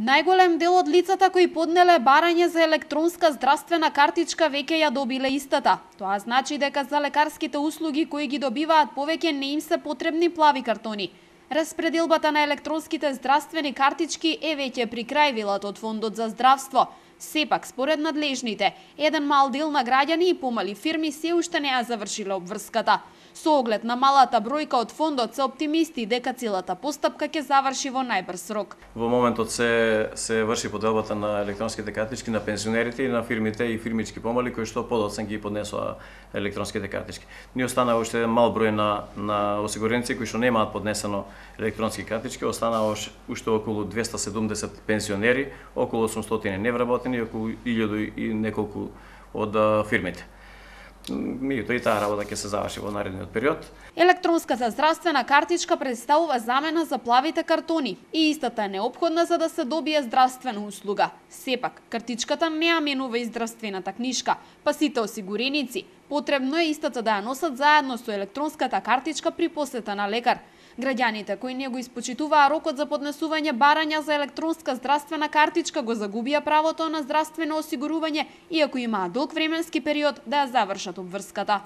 Најголем дел од лицата кои поднеле барање за електронска здравствена картичка веќе ја добиле истата. Тоа значи дека за лекарските услуги кои ги добиваат повеќе не им се потребни плави картони. Распределбата на електронските здравствени картички е веќе при крај, велат од Фондот за здравство. Сепак, според надлежните, еден мал дел на граѓани и помали фирми се уште не ја завршиле обврската. Со оглед на малата бројка од фондот се оптимисти дека целата постапка ќе заврши во најбрз рок. Во моментот се врши поделбата на електронските картички на пензионерите и на фирмите и фирмички помали кои што подоцен ги поднесоа електронските картички. Ни останаа уште еден мал број на осигуреници кои што немаат поднесено електронски картички, останаа уште околу 270 пензионери, околу 800 невработени и околу 1000 и неколку од фирмите. Меѓутоа и таа работа ќе се заврши во наредниот период. Електронската здравствена картичка представува замена за плавите картони и истата е неопходна за да се добие здравствена услуга. Сепак, картичката не ја менува и здравствената книшка, па сите осигуреници потребно е истата да ја носат заедно со електронската картичка при посета на лекар. Граѓаните кои не го испочитуваа рокот за поднесување барања за електронска здравствена картичка го загубија правото на здравствено осигурување, иако имаа долг временски период да ја завршат обврската.